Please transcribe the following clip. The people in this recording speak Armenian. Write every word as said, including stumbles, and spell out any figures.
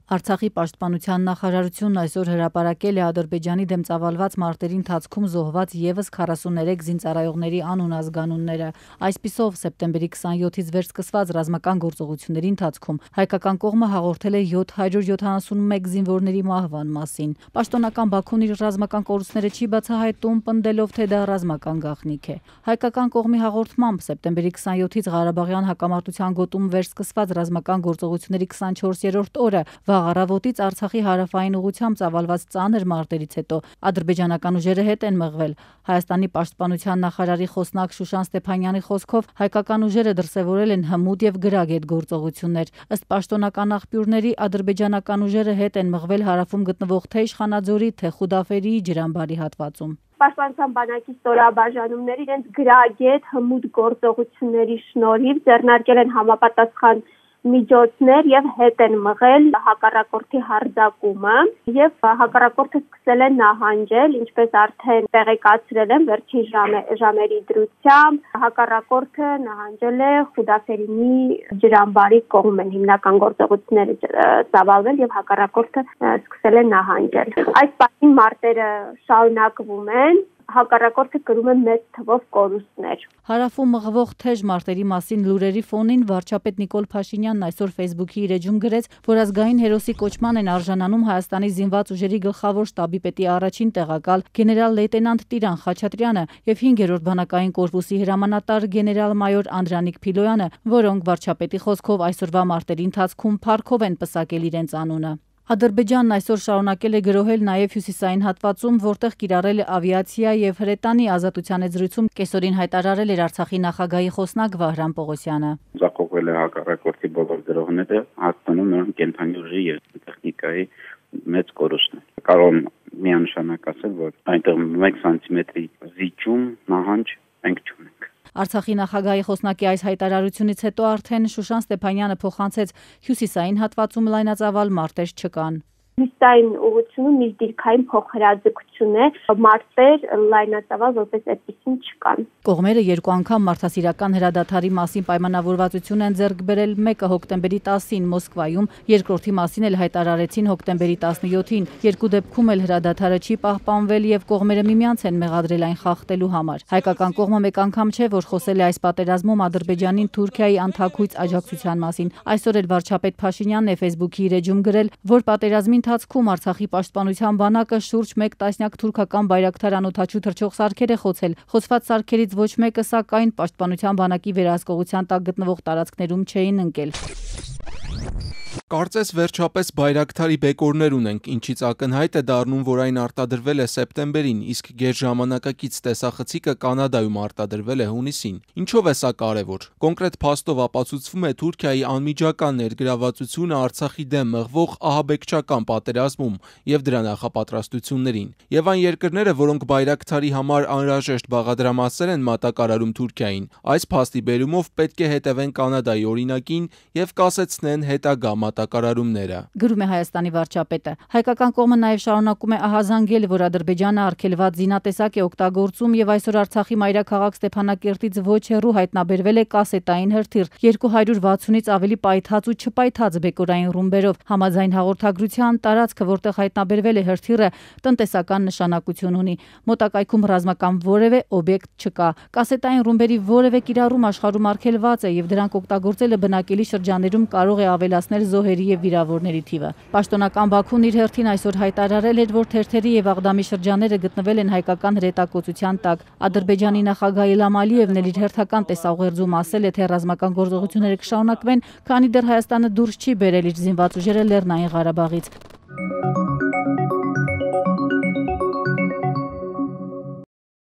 Արցախի պաշտպանության նախարարությունն այսօր հրապարակել է Ադրբեջանի դեմ ծավալված մարտերի ընթացքում զոհված ևս քառասուններեք զինծառայողների անուն-ազգանունները։ Այսպիսով, սեպտեմբերի քսանյոթից վեր սկսված ռազմական գործողությունների ընթացքում հայկական կողմը հաղորդել է յոթ հարյուր յոթանասունմեկ զինվորների մահվան մասին։ Պաշտոնական Բաքուն իր ռազմական կորուստները չի բացահայտում, պնդելով, թե դա ռազմական գաղտնիք է։ Հայկական կողմի հաղորդմամբ սեպտեմբերի քսանյոթից Ղարաբաղյան հակամարտության գոտում վերսկսված ռազմական գործողությունների քսանչորսերորդ օրը վաղ առավոտից Արցախի հարավային ուղղությամբ ծավալված ծանր մարտերից հետո ադրբեջանական ուժերը հետ են մղվել։ Հայաստանի պաշտպանության նախարարի խոսնակ Շուշան Ստեփանյանի խոսքով հայկական ուժերը դրսևորել են հմուտ եւ գրագետ գործողություններ։ Ըստ պաշտոնական աղբյուրների, ադրբեջանական ուժերը հետ են մղվել հարավում գտնվող թե Իշխանաձորի, թե Խուդաֆերի ջրամբարի հատվածում։ Պաշտպանության բանակի ստորաբաժանումները իրենց գրագետ հմուտ գործողությունների շնորհիվ ձեռնարկել են համապատասխան միջոցներ եւ հետ են մղել հակառակորդի հարձակումը եւ հակառակորդը սկսել է նահանջել, ինչպես արդեն տեղեկացրել են վերջին ժամերի դրությամբ, հակառակորդը նահանջել է Խուդաֆերինի ջրամբարի կողմեն, հիմնական գործողությունները ծավալվել եւ հակառակորդը սկսել է նահանջել։ Այս պահին մարտերը շարունակվում են, հակառակորդը կրում է մեծ թվով կորուստներ։ Հարավում մղվող թեժ մարտերի մասին լուրերի ֆոնին վարչապետ Նիկոլ Փաշինյանն այսօր Facebook-ի իր էջում գրեց, որ ազգային հերոսի կոչման են արժանանում Հայաստանի զինված ուժերի գլխավոր շտաբի պետի առաջին տեղակալ գեներալ լեյտենանտ Տիրան Խաչատրյանը եւ հինգերորդ բանակային կորպուսի հրամանատար գեներալ-մայոր Անդրանիկ Փիլոյանը, որոնք վարչապետի խոսքով այսօրվա մարտերի ընթացքում փառքով են պսակել իրենց անունը։ Ադրբեջանն այսօր շարունակել է գրոհել նաև հյուսիսային հատվածում, որտեղ կիրառել է ավիացիա եւ հրետանի ազատության զրույցում կեսօրին հայտարարել էր Արցախի նախագահի խոսնակ Վահրամ Պողոսյանը։ Ձախողվել է հակառակորդի բոլոր գրոհները, հաստատում նրանք կենթանի ուժի եւ տեխնիկայի մեծ կորուստներ։ Կարող եմ միանշանակ ասել, որ այնտեղ մեկ սանտիմետրի զիջում նահանջ մենք չունենք։ Արցախի նախագահի խոսնակի այս հայտարարությունից հետո արդեն Շուշան Ստեփանյանը փոխանցեց հյուսիսային հատվածում լայնածավալ մարտեր չկան։ Հյուսիսային ուղղությունում իր դիրքային փոխհրաձգություն է, մարտեր լայնածավալ որպես այդպեսին չկան։ Կողմերը երկու անգամ մարդասիրական հրադադարի մասին պայմանավորվածություն են ձեռք բերել, մեկը հոկտեմբերի տասին Մոսկվայում, երկրորդի մասին էլ հայտարարեցին հոկտեմբերի տասնյոթին։ Երկու դեպքում էլ հրադադարը չի պահպանվել եւ կողմերը միմյանց են մեղադրել այն խախտելու համար։ Հայկական կողմը մեկ անգամ չէ, որ խոսել է այս պատերազմում Ադրբեջանին Թուրքիայի անթաքույց աջակցության մասին։ Այսօր էլ վարչապետ Փաշինյանն է Facebook-ի իր էջում գրել, որ պատերազմի ընթացքում Արցախի պաշտպանության բանակը շուրջ մեկ տասնյակ թուրքական բայրակթար անօդաչու թռչող սարքեր է խոցել։ Խոցված սարքերից ոչ մեկը, սակայն պաշտպանության բանակի վերահսկողության տակ գտնվող տարածքներում չէին ընկել։ Կարծես վերջապես բայրակթարի բեկորներ ունենք, ինչից ակնհայտ է դառնում, որ այն արտադրվել է սեպտեմբերին, իսկ գերժամանակակից տեսախցիկը Կանադայում արտադրվել է հունիսին։ Ինչով է սա կարևոր։ Կոնկրետ փաստով ապացուցվում է Թուրքիայի անմիջական ներգրավվածությունը Արցախի դեմ մղվող ահաբեկչական պատերազմում եւ դրա նախապատրաստություններին։ Եվ այն երկրները, որոնք բայրակթարի համար անհրաժեշտ բաղադրամասեր են մատակարարում Թուրքիային, այս փաստի բերումով պետք է հետևեն Կանադայի օրինակին եւ կասեցնեն հետագա մատակարարումները։ Գրում է Հայաստանի վարչապետը։ Հայկական կողմը նաև շարունակում է ահազանգել, որ Ադրբեջանը արգելված զինատեսակ է օգտագործում եւ այսօր Արցախի մայրաքաղաք Ստեփանակերտից ոչ հեռու հայտնաբերվել է կասետային հրթիռ երկու հարյուր վաթսունից ավելի պայթած ու չպայթած բեկորային ռումբերով։ Համաձայն հաղորդագրության տարածքը, որտեղ հայտնաբերվել է հրթիռը, տնտեսական նշանակություն ունի։ Մոտակայքում ռազմական որևէ օբյեկտ չկա։ Կասետային ռումբերի որևէ կիրառում աշխարհում արգելված է եւ դրանք օգտագործելը բնակելի շրջաններում կարող է ավելացնել զոհերի եւ վիրավորների թիվը։ Պաշտոնական Բաքուն իր հերթին այսօր հայտարարել էր, որ թերթերի եւ Աղդամի շրջանները գտնվել են հայկական հրետակոծության տակ։ Ադրբեջանի նախագահ Իլհամ Ալիևն էլ իր հերթական տեսաուղերձում ասել է, թե ռազմական գործողությունները կշարունակվեն, քանի դեռ Հայաստանը դուրս չի բերել իր զինված ուժերը Լեռնային Ղարաբաղից։